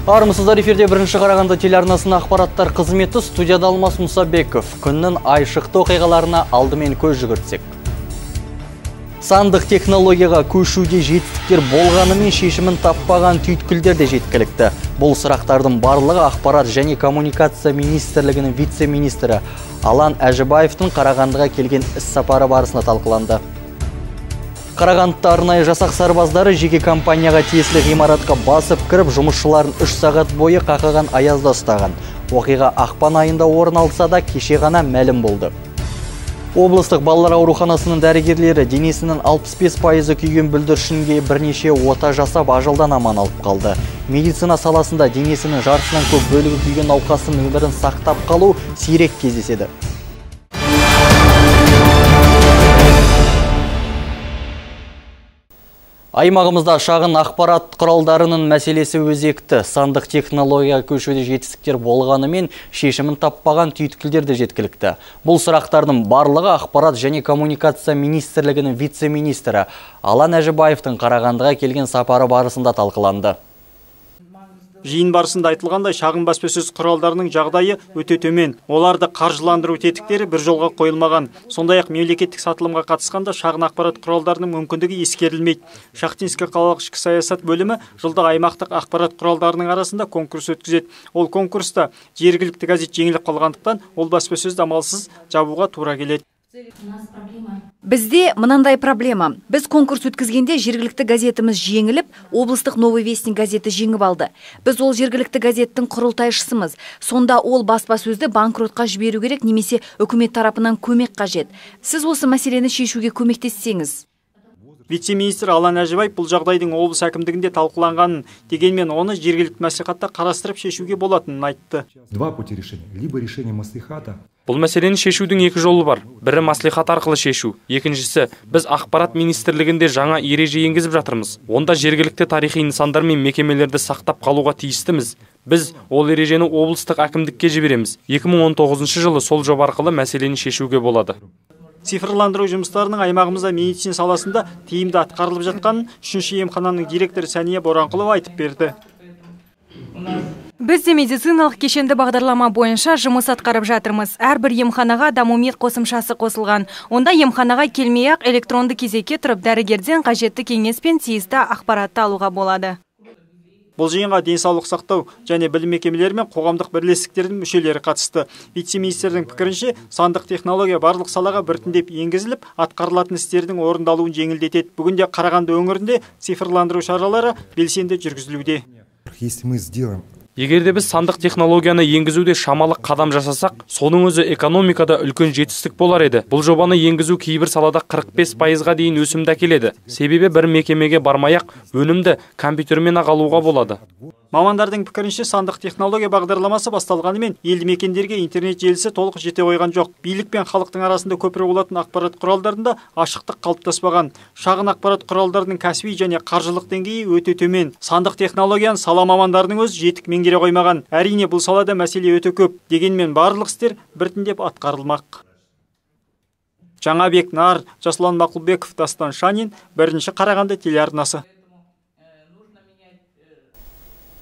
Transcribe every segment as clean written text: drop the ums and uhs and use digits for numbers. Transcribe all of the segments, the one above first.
Армысыздар, эфирде бірінші Қарағанды телеарнасының ақпараттар қызметі, студияда Алмас Мұсабеков. Күннің айшықты оқиғаларына алдымен көз жүгіртсек. Сандық технологияға көшуде жетістіктер болғанымен шешімін таппаған түйткілдер де жеткілікті. Бұл сұрақтардың барлығы ақпарат және коммуникация министрлігінің вице-министрі Алан Әжібаевтың Қарағандыға келген іс-сапары барысында талқыланды. Қарағандыда арнайы жасақ сарбаздары жеке компанияға тиесілі ғимаратқа басып кіріп, жұмысшыларын 3 сағат бойы қақаған аязда ұстаған. Оқиға ақпан айында орын алса да кеше ғана мәлім болды. Облыстық балалар ауруханасының дәрігерлері денесінің 65% күйген бүлдіршінге бірнеше ота жасап ажалдан аман алып қалды. Медицина саласында денесінің жартысынан көп бөлігі күйген науқастың өмірін сақтап қалу сирек кездеседі. Аймағымызда шағын ақпарат құралдарының мәселесі өзекті. Сандық технология көшуде жетістіктер болғанымен шешімін таппаған түйткілдер де жеткілікті. Бұл сұрақтардың барлығы ақпарат және коммуникация министрлігінің вице-министрі Алан Әжібаевтың Қарағандыға келген сапары барысында талқыланды. Жиын барысында айтылғандай, шағын баспасөз құралдарының жағдайы өте төмен. Оларды қаржыландыру тетіктері бір жолға қойылмаған. Сондай-ақ мемлекеттік сатылымға қатысқанда шағын ақпарат құралдарының мүмкіндігі ескерілмейді. Шахтинский қалалық ішкі саясат бөлімі жылда аймақтық ақпарат құралдарының арасында конкурс өткізеді. Ол конкурста жергілікті газет жеңіліп қалғандықтан, ол баспасөзді амалсыз жабуға тура келеді. Бізде мынандай проблема. Біз конкурс өткізгенде жергілікті газетіміз жеңіліп, облыстық Новый Вестник газеті жеңіп алды. Біз ол жергілікті газеттің құрылтайшысымыз. Сонда ол баспасөзді банкротқа жіберу керек, немесе үкімет тарапынан көмек қажет. Сіз осы мәселені шешуге көмектессеңіз. Вице-министр Алан Әжібаев бұл жағдайдың облыс әкімдігінде талқыланғанын, дегенмен оны жергілікті мәслихатта қарастырып шешуге болатынын айтты. Два пути решения. Либо решение мәслихата. Бұл мәселені шешудің екі жолы бар. Бірі мәслихат арқылы шешу. Екіншісі, біз ақпарат министрлігінде жаңа ереже енгізіп жатырмыз. Онда жергілікті тарихи нысандар мен мекемелерді сақтап қалуға тиістіміз. Біз ол ережені облыстық әкімдікке жібереміз. 2019 жылы сол жоба арқылы мәселені шешуге болады. Цифрландыру жұмыстарының аймағымызда медицина саласында тиімді атқарылып жатқанын 3-ші емхананың директоры Сәния Боранқұлова айтып берді. Біз де медициналық кешенді бағдарлама бойынша жұмыс атқарып жатырмыз. Әрбір емханаға Дамумед қосымшасы қосылған. Онда емханаға келмей-ақ электронды кезекке тұрып дәрігерден қажетті кеңес пен тиісті ақпаратты алуға болады. Бұл жиынға денсаулық сақтау және білім мекемелері мен қоғамдық бірлестіктердің мүшелері қатысты. Вице-министрдің пікірінше, сандық технология барлық салаға біртіндеп енгізіліп, атқарылатын істердің орындалуын жеңілдетеді. Бүгінде Қарағанды өңірінде цифрландыру шаралары белсенді жүргізілуде. Егерде біз сандық технологияны енгізуде шамалы қадам жасасақ, соның өзі экономикада үлкен жетістік болар еді. Бұл жобаны енгізу кейбір салада 45%-ға дейін өсімді әкеледі. Себебі бір мекемеге бармай-ақ өнімді компьютермен алуға болады. Мамандардың пікірінше, сандық технология бағдарламасы басталғанымен елді мекендерге интернет желісі толық жете қойған жоқ. Билік пен халықтың арасында көпірі болатын ақпарат құралдарында ашықтық қалыптаспаған. Шағын ақпарат құралдарының кәсіби және қаржылық деңгейі өте төмен. Сандық технологияны сала мамандарының өз жетік меңгере қоймаған. Әрине, бұл салада мәселе өте көп. Дегенмен барлық істер біртіндеп атқарылмақ. Жаңабек Нар, Жасұлан Мақұлбеков, Дастан Шанин, бірінші Қарағанды телеарнасы.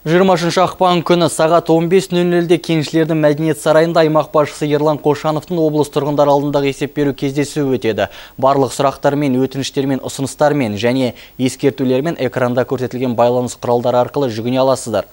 20 ақпан күні сағат 15:00-де Кеншілердің мәдениет сарайында аймақ басшысы Ерлан Қошановтың облыс тұрғындар алдындағы есеп беру кездесуі өтеді. Барлық сұрақтармен, өтініштермен, ұсыныстармен және ескертулермен экранда көрсетілген байланыс құралдары арқылы жүгіне аласыздар.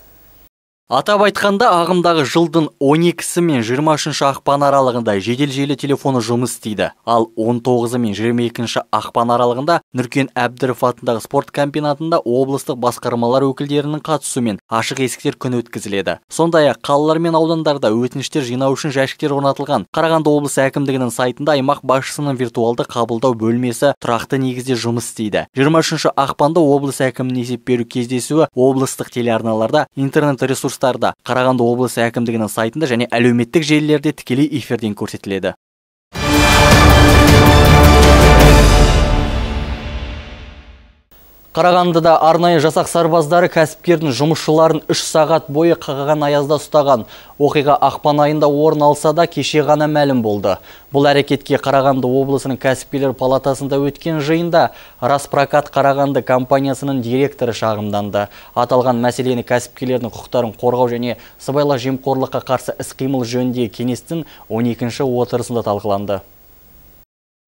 Атап айтқанда, ағымдағы жылдың 12-сі мен 23-ші ақпан аралығында жедел желі телефоны жұмыс істейді. Ал 19-і мен 22-ші ақпан аралығында Нүркен Әбдіров атындағы спорт комбинатында облыстық басқармалар өкілдерінің қатысуымен ашық есіктер күні өткізіледі. Сондай-ақ қалалар мен аудандарда өтініштер жинау үшін жәшіктер орнатылған. Қарағанды облысы әкімдігінің сайтында аймақ басшысының виртуалды қабылдау бөлмесі тұрақты негізде жұмыс істейді. 23-ші ақпанда облыс әкімінің есеп беру кездесуі облыстық телеарналарда, интернет ресурстарда, Қарағанды облысы әкімдігінің сайтында және әлеуметтік желілерде тікелей эфирден көрсетіледі. Қарағандыда арнайы жасақ сарбаздары кәсіпкердің жұмысшыларын 3 сағат бойы қақаған аязда ұстаған. Оқиға ақпан айында орын алса да кеше ғана мәлім болды. Бұл әрекетке Қарағанды облысының кәсіпкерлер палатасында өткен жиында Распрокат Қарағанды компаниясының директоры шағымданды. Аталған мәселені кәсіпкерлердің құқықтарын қорғау және сыбайлас жемқорлыққа қарсы іс-қимыл жөніндегі кеңестің 12-ші отырысында талқыланды.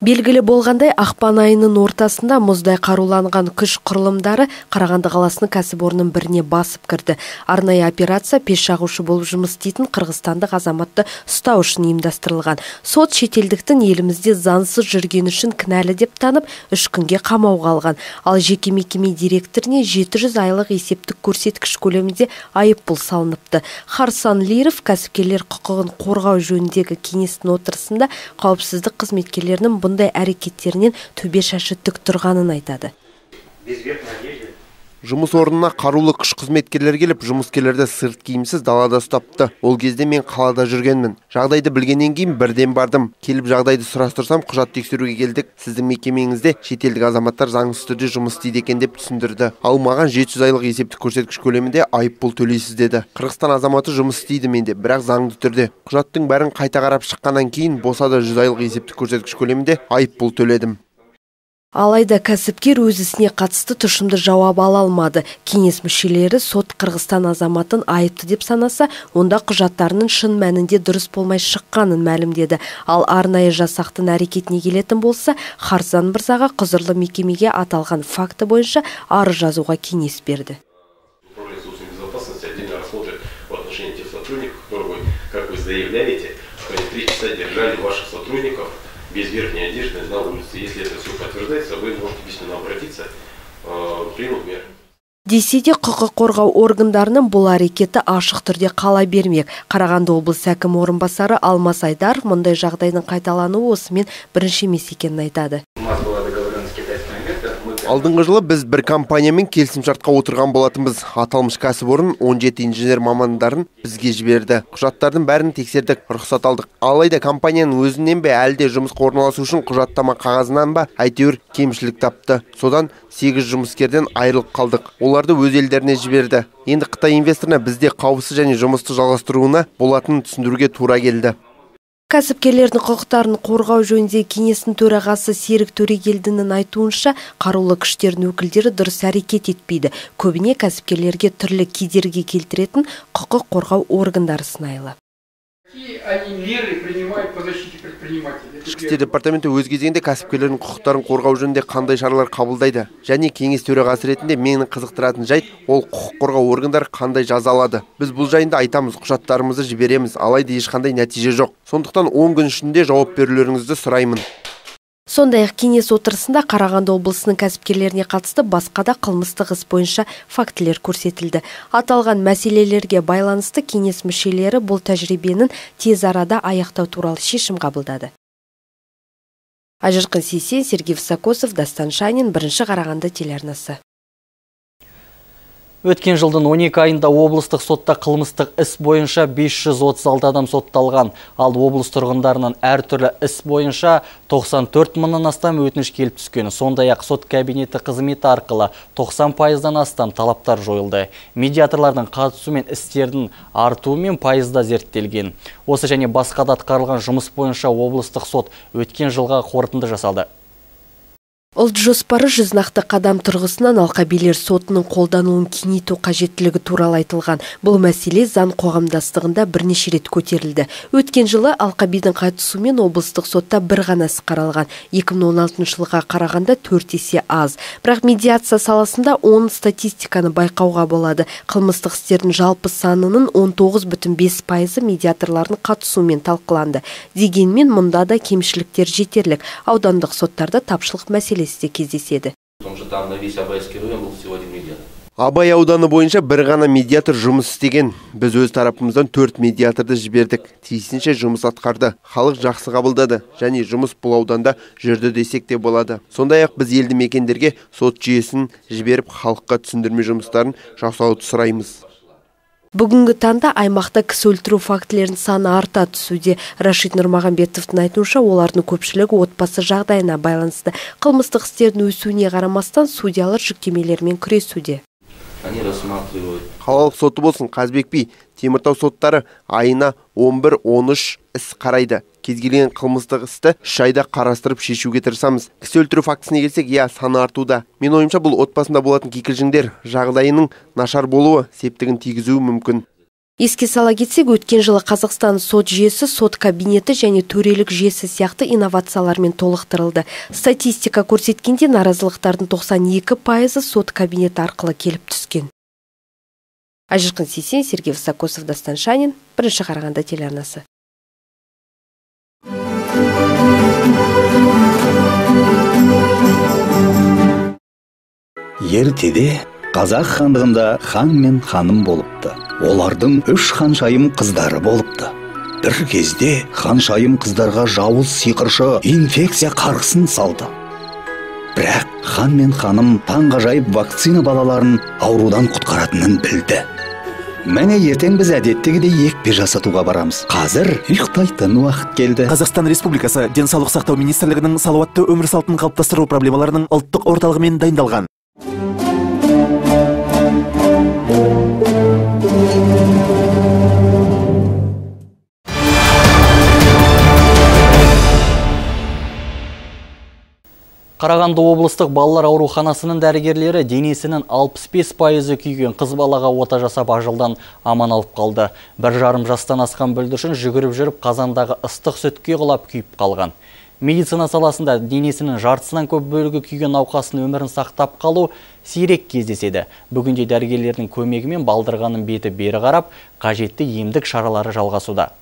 Белгілі болғандай, ақпан айының ортасында мұздай қаруланған күш құрылымдары Қарағанды қаласының кәсіпорнының біріне басып кірді. Арнайы операция пеш жағушы болып жұмыс істейтін қырғызстандық азаматты ұстау үшін ұйымдастырылған. Сот шетелдіктің елімізде заңсыз жүргені үшін кінәлі деп танып, 3 күнге қамауға алған. Ал жеке мекеме директоріне 700 айлық есептік көрсеткіш көлемінде айыппұл салыныпты. Харсан Лиров кәсіпкерлер құқығын қорғау жөніндегі кеңестің отырысында қауіпсіздік қызметкерлерінің бұндай әрекеттерінен төбе шашы тік тұрғанын айтады. Жұмыс орнына қарулы күш қызметкерлер келіп, жұмыскерлерді сырт киімсіз далада ұстапты. Ол кезде мен қалада жүргенмін. Жағдайды білгеннен кейін бірден бардым. Келіп жағдайды сұрастырсам, құжат тексеруге келдік. Сіздің мекемеңізде шетелдік азаматтар заңсыз түрде жұмыс істейді екен деп түсіндірді. Ал маған 700 айлық есептік көрсеткіш көлемінде айыппұл төлейсіз деді. Қырғызстан азаматы жұмыс істейді менде, бірақ заңды түрде. Құжаттың бәрін қайта қарап шыққаннан кейін босада 100 айлық есептік көрсеткіш көлемінде айыппұл төледім. Алайда кәсіпкер өз ісіне қатысты тұшымды жауап ала алмады. Кеңес мүшелері сот Қырғызстан азаматын айыпты деп санаса, онда құжаттарының шын мәнінде дұрыс болмай шыққанын мәлімдеді. Ал арнайы жасақтың әрекетіне келетін болса, Харсан Мырзаға құзырлы мекемеге аталған факті бойынша арыз жазуға кеңес берді. Без верхней одежды на улице. Если это все подтверждается, вы можете письменно обратиться, примут меры. Десе де құқық қорғау органдарының бұл әрекеті ашық түрде қала бермек. Қарағанды облысы әкімі орынбасары Алмас Айдар мұндай жағдайдың қайталануы осымен бірінші емес екенін айтады. Алдыңғы жылы біз бір компаниямен келісімшартқа отырған болатынбыз. Аталмыш кәсіпорын 17 инженер мамандарын бізге жіберді. Құжаттардың бәрін тексердік, рұқсат алдық. Алайда компанияның өзінен бе әлде жұмысқа орналасу үшін құжаттама қағазынан ба әйтеуір кемшілік тапты. Содан 8 жұмыскерден айырылып қалдық. Оларды өз елдеріне жіберді. Енді Қытай инвесторына бізде қауіпсіз және жұмысты жалғастыруына болатынын түсіндіруге тура келді. Кәсіпкерлердің құқықтарын қорғау жөніндегі кеңестің төрағасы Серік Төрегелдінің айтуынша, қарулы күштердің өкілдері дұрыс әрекет етпейді. Көбіне кәсіпкерлерге түрлі кедергі келтіретін құқық қорғау органдары сынайлы. Ішкі істер департаменті өз кезегінде кәсіпкерлердің құқықтарын қорғау жөнінде қандай шаралар қабылдайды. Және кеңес төрағасы ретінде мені қызықтыратын жайт, ол құқық қорғау органдары қандай жаза алады. Біз бұл жайында айтамыз, құжаттарымызды жібереміз, алайда ешқандай нәтиже жоқ. Сондықтан 10 күн ішінде жауап берулеріңізді сұраймын. Сондай-ақ кеңес отырысында Қарағанды облысының кәсіпкерлеріне қатысты басқа да қылмыстық іс бойынша фактілер көрсетілді. Аталған мәселелерге байланысты кеңес мүшелері бұл тәжірибенің тез арада аяқтау туралы шешім қабылдады. Ажырқын Сейсен, Сергей Высокосов, Дастан Шанин, бірінші Қарағанды телеарнасы. Өткен жылдың 12 айында облыстық сотта қылмыстық іс бойынша 536 адам сотталған. Ал облыс тұрғындарынан әртүрлі іс бойынша 94 мыңнан астам өтініш келіп түскен. Сондай-ақ сот кабинеті қызметі арқылы 90%-дан астам талаптар жойылды. Медиаторлардың қатысуымен істердің артуымен пайызда зерттелген. Осы және басқа да атқарылған жұмыс бойынша облыстық сот өткен жылға қорытынды жасалды. Ұлт жоспары жүз нақты қадам тұрғысынан алқабилер сотының қолдануын кеңейту қажеттілігі туралы айтылған. Бұл мәселе заң қоғамдастығында бірнеше рет көтерілді. Өткен жылы алқабидің қатысуымен облыстық сотта бір ғана іс қаралған. 2016 жылға қарағанда 4 есе аз. Бірақ медиация саласында 10 статистиканы байқауға болады. Қылмыстық істердің жалпы санының 19,5% медиаторлардың қатысуымен талқыланды. Дегенмен мұнда да кемшіліктер жетерлік. Аудандық соттарда тапшылық мәселесі кездеседі. Абай ауданы бойынша бір ғана медиатор жұмыс істеген. Біз өз тарапымыздан 4 медиаторды жібердік. Тиісінше жұмыс атқарды. Халық жақсы қабылдады және жұмыс бұл ауданда жүрді десек те болады. Сондай-ақ біз елді мекендерге сот жүйесін жіберіп халыққа түсіндірме жұмыстарын жасауды сұраймыз. Бүгінгі таңда аймақта кісі өлтіру фактілерінің саны арта түсуде. Рашид Нұрмағанбетовтың айтуынша, олардың көпшілігі отбасы жағдайына байланысты. Қылмыстық істердің өсуіне қарамастан судьялар жүктемелермен күресуде. Қалалық соты болсын Қазбек би, Теміртау соттары айына 11-13 іс қарайды. Кез келген қылмыстық істі 3 айда қарастырып шешуге тырысамыз. Кісі өлтіру фактісіне келсек, саны артуда. Мен ойымша, бұл отбасында болатын кикілжіңдер жағдайының нашар болуы септігін тигізуі мүмкін. Еске сала кетсек, өткен жылы Қазақстан сот жүйесі, сот кабинеті және төрелік жүйесі сияқты инновациялармен толықтырылды. Статистика көрсеткенде наразылықтардың 92% сот кабинеті арқылы келіп түскен. Ажырқын Сейсен, Сергей Высокосов, Дастан Шанин, Бірінші Қарағанды телеарнасы. Ертеде қазақ хандығында хан мен ханым болыпты. Олардың 3 ханшайым қыздары болыпты. Бір кезде ханшайым қыздарға жауыз сиқыршы инфекция қарғысын салды. Бірақ хан мен ханым таңғажайып вакцина балаларын аурудан құтқаратынын білді. Мәне ертең біз әдеттегідей екпе жасатуға барамыз. Қазір ұйықтайтын уақыт келді. Қазақстан Республикасы Денсаулық сақтау министрлігінің салауатты өмір салтын қалыптастыру проблемаларының ұлттық орталығымен дайындалған. Қарағанды облыстық балалар ауруханасының дәрігерлері денесінің 65% күйген қыз балаға ота жасап ажалдан аман алып қалды. 1,5 жастан асқан бүлдіршін жүгіріп жүріп қазандағы ыстық сүтке құлап күйіп қалған. Медицина саласында денесінің жартысынан көп бөлігі күйген науқастың өмірін сақтап қалу сирек кездеседі. Бүгінде дәрігерлердің көмегімен балдырғанның беті бері қарап, қажетті емдік шаралары жалғасуда.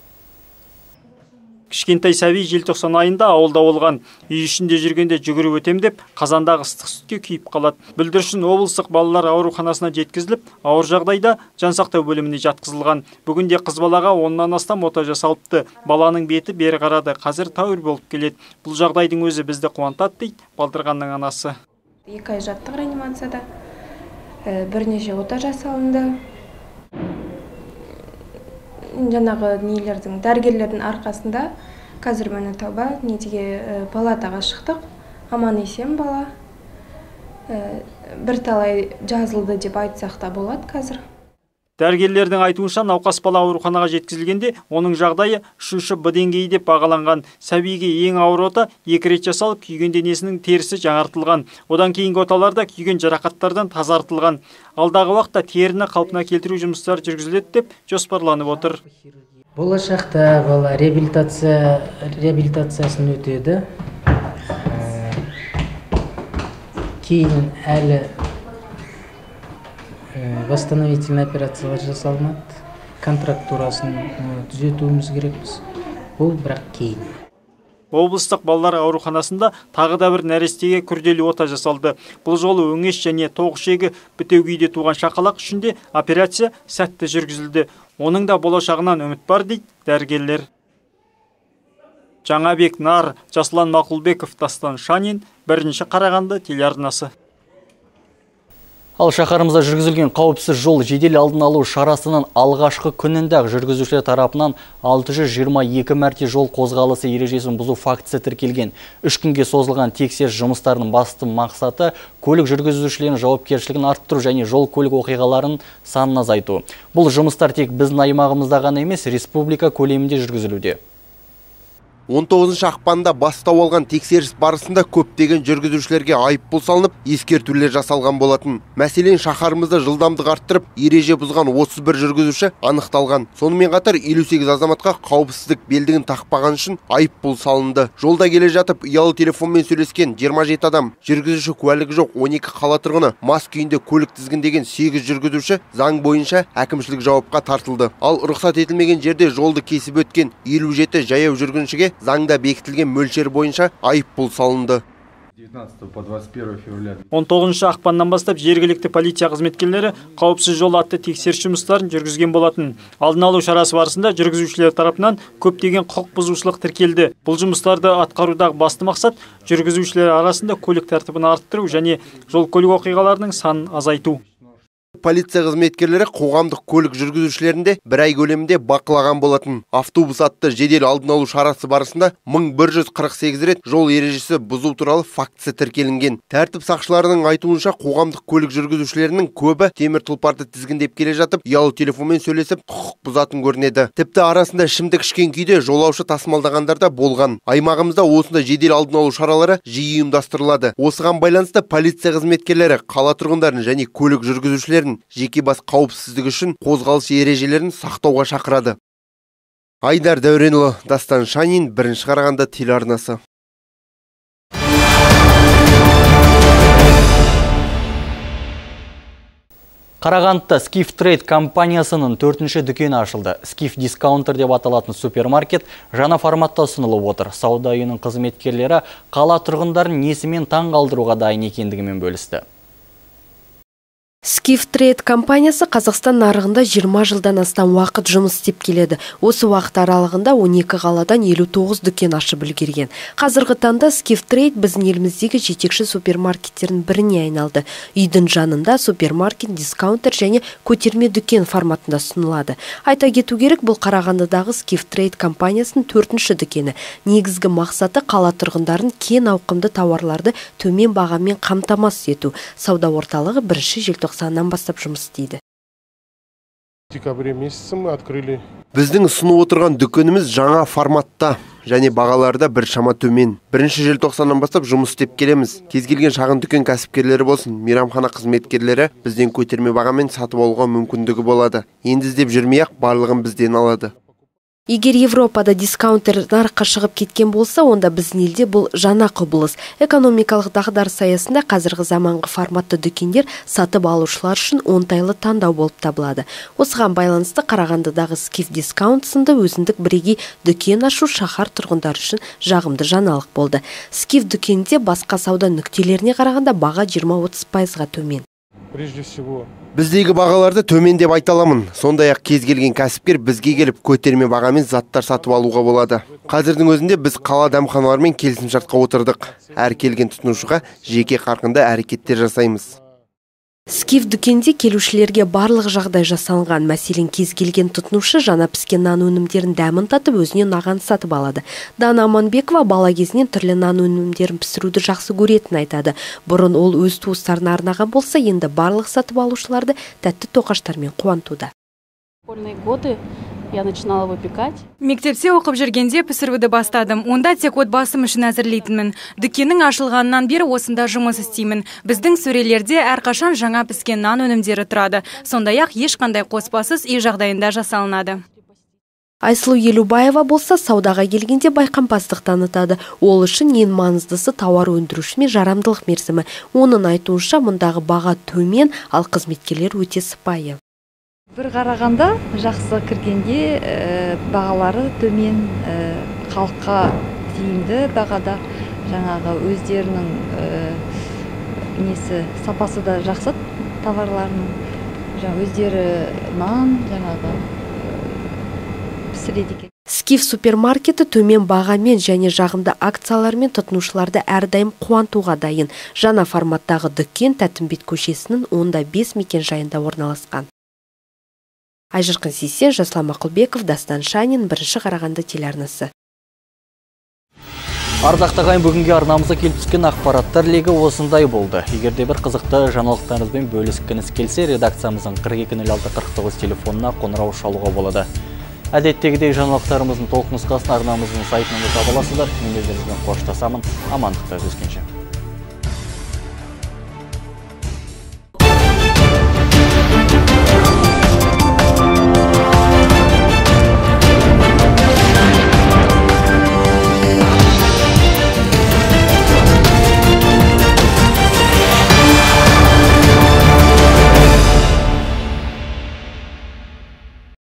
Кішкентай сәби желтоқсан айында ауылда болған. Үй ішінде жүргенде жүгіріп өтем деп, қазандағы ыстық сүтке күйіп қалады. Бүлдіршін облыстық балалар ауруханасына жеткізіліп, ауыр жағдайда жансақтау бөліміне жатқызылған. Бүгінде қыз балаға 10-нан астам ота жасалыпты. Баланың беті бері қарады, қазір тәуір болып келеді. Бұл жағдайдың өзі бізді қуантады дейді балдырғанның анасы. 2 ай жаттық реанимацияда, бірнеше ота жасалынды. Жаңағы нелердің, дәрігерлердің арқасында қазір мені тауба палатаға шықтық. Аман есен бала. Бірталай жазылды деп айтсақ та болады қазір. Дәрігерлердің айтуынша науқас бала ауруханаға жеткізілгенде, оның жағдайы 3-ші Б деңгейі деп бағаланған. Сәбиге ең ауыр ота 2 рет жасалып, күйген денесінің терісі жаңартылған. Одан кейінгі оталарда күйген жарақаттардан тазартылған. Алдағы уақытта теріні қалпына келтіру жұмыстары жүргізіледі деп жоспарланып отыр. Болашақта бала реабилитациясын өтеді. Кейін әлі восстановительный операциялар жасалынады. Контрактурасын түзетуіміз керекпіз. Бұл бірақ кейін. Облыстық балалар ауруханасында тағы да бір нәрестеге күрделі ота жасалды. Бұл жолы өңеш және тоғышегі бітеу күйде туған шақалақ үшінде операция сәтті жүргізілді. Оның да болашағынан үміт бар дейді дәрігерлер. Жаңабек Нар, Жаслан Мақұлбеков, Дастан Шанин, Бірінші Қарағанды телеарнасы. Ал шаһарымызда жүргізілген қауіпсіз жол жедел алдын алу шарасының алғашқы күнінде жүргізушілер тарапынан 622 мәрте жол қозғалысы ережесін бұзу фактісі тіркелген. 3 күнге созылған тексеріс жұмыстарының басты мақсаты көлік жүргізушілерінің жауапкершілігін арттыру және жол көлік оқиғаларын санын азайту. Бұл жұмыстар тек біздің аймағымызда ғана емес, республика көлемінде жүргізілуде. 19 ақпанда бастау алған тексеріс барысында көптеген жүргізушілерге айыппұл салынып, ескертулер жасалған болатын. Мәселен, шаһарымызда жылдамдық арттырып, ереже бұзған 31 жүргізуші анықталған. Сонымен қатар 58 азаматқа қауіпсіздік белдігін тақпаған үшін айыппұл салынды. Жолда келе жатып, ұялы телефонмен сөйлескен 27 адам, жүргізуші куәлігі жоқ 12 қала тұрғыны, мас күйінде көлік тізгіндеген 8 жүргізуші заң бойынша әкімшілік жауапқа тартылды. Ал рұқсат етілмеген жерде жолды кесіп өткен 57 жаяу жүргіншіге заңда бекітілген мөлшер бойынша айыппұл салынды. 19 ақпаннан бастап жергілікті полиция қызметкерлері қауіпсіз жол атты тексеріс жұмыстарын жүргізген болатын. Алдын алу шарасы барысында жүргізушілер тарапынан көптеген құқық бұзушылық тіркелді. Бұл жұмыстарды атқарудағы басты мақсат жүргізушілер арасында көлік тәртібін арттыру және жол көлік оқиғаларының санын азайту. Полиция қызметкерлері қоғамдық көлік жүргізушілерінде бір ай көлемінде бақылаған болатын. Автобус атты жедел алдын алу шарасы барысында 1148 рет жол ережесі бұзу туралы фактісі тіркелінген. Тәртіп сақшыларының айтуынша қоғамдық көлік жүргізушілерінің көбі темір тұлпарды тізгіндеп келе жатып, ұялы телефонмен сөйлесіп құқық бұзатын көрінеді. Тіпті арасында ішімдік ішкен күйде жолаушы тасымалдағандар да болған. Аймағымызда осындай жедел алдын алу шаралары жиі ұйымдастырылады. Осыған байланысты полиция қызметкерлері қала тұрғындарын және көлік жүргізушілерін жеке бас қауіпсіздігі үшін қозғалыс ережелерін сақтауға шақырады. Айдар Дәуренұлы, Дастан Шанин, Бірінші Қарағанды телеарнасы. Қарағандыда Skif Trade компаниясының 4-ші дүкені ашылды. Skif Discounter деп аталатын супермаркет жаңа форматта ұсынылып отыр. Сауда үйінің қызметкерлері қала тұрғындарын несімен таң қалдыруға дайын екендігімен бөлісті. Skif Trade компаниясы Қазақстан нарығында 20 жылдан астам уақыт жұмыс істеп келеді. Осы уақыт аралығында 12 қаладан 59 дүкен ашып үлгерген. Қазіргі таңда Skif Trade біздің еліміздегі жетекші супермаркеттердің біріне айналды. Үйдің жанында супермаркет, дискаунтер және көтерме дүкен форматында ұсынылады. Айта кету керек, бұл Қарағандыдағы Skif Trade компаниясының 4-ші дүкені. Негізгі мақсаты қала тұрғындарын кең ауқымды тауарларды төмен бағамен қамтамасыз ету. Сауда орталығы 1-ші желтоқсаннан бастап жұмыс істейді. Декабрь месяце мы открыли. Біздің ұсынып отырған дүкеніміз жаңа форматта және бағаларда бір шама төмен. 1-ші желтоқсаннан бастап жұмыс істеп келеміз. Кез келген шағын дүкен кәсіпкерлері болсын, мейрамхана қызметкерлері бізден көтерме бағамен сатып алуға мүмкіндігі болады. Енді іздеп жүрмей-ақ барлығын бізден алады. Егер Европада дискаунтер нарыққа шығып кеткен болса, онда біздің елде бұл жаңа құбылыс. Экономикалық дағдарыс аясында қазіргі заманғы форматты дүкендер сатып алушылар үшін оңтайлы таңдау болып табылады. Осыған байланысты Қарағандыдағы Skif Discount сынды өзіндік бірегей дүкен ашу шаһар тұрғындары үшін жағымды жаңалық болды. Skif дүкенінде басқа сауда нүктелеріне қарағанда баға 20-30%-ға төмен. Прежде всего, Біздегі бағаларды төмен деп айта аламын. Сондай-ақ кез келген кәсіпкер бізге келіп көтерме бағамен заттар сатып алуға болады. Қазірдің өзінде біз қала дәмханаларымен келісімшартқа отырдық. Әр келген тұтынушыға жеке қарқынды әрекеттер жасаймыз. Skif дүкенде келушілерге барлық жағдай жасалған. Мәселен, кез келген тұтынушы жаңа піскен нан өнімдерін дәмін татып, өзіне наған сатып алады. Дана Аманбекова бала кезінен түрлі нан өнімдерін пісіруді жақсы көретін айтады. Бұрын ол өз туыстарына арнаған болса, енді барлық сатып алушыларды тәтті тоқаштармен қуантуда. Я начинала выпекать. Мектепте оқып жүргенде пісіруді бастадым. Онда тек отбасым үшін әзірлейтінмін. Дүкеннің ашылғаннан бері осында жұмыс істеймін. Біздің сөрелерде әрқашан жаңа піскен нан өнімдері тұрады. Сондай-ақ ешқандай қоспасыз үй жағдайында жасалынады. Айсұлу Елубаева болса, саудаға келгенде байқампаздық танытады. Ол үшін ең маңыздысы тауар өндіруші мен жарамдылық мерзімі. Оның айтуынша мұндағы баға төмен, ал қызметкерлер өте сыпайы. Бір қарағанда жақсы кіргенде бағалары төмен, халыққа тиімді бағада, жаңағы өздерінің сапасы да жақсы товарларының, өздері нан жаңағы пісіреді екен. Skif супермаркеті төмен бағамен және жағымды акциялармен тұтынушыларды әрдайым қуантуға дайын. Жаңа форматтағы дүкен Тәттімбет көшесінің 5 мекен жайында орналасқан. Айжырқын Сейсен, Жаслан Мақұлбеков, Дастан Шанин, Бірінші Қарағанды телеарнасы. Ардақты ағайын, бүгінге арнамызға келіп түскен ақпараттар легі осындай болды. Егерде бір қызықты жаңалықтарыңызбен бөліскіңіз келсе, редакциямыздың 42-06-49 телефонына қоңырау шалуға болады. Әдеттегідей жаңалықтарымыздың толық нұсқасын арнамыздың сайтынан таба аласыздар. Мен өздеріңізбен қоштасамын. Амандықта жүзгенше.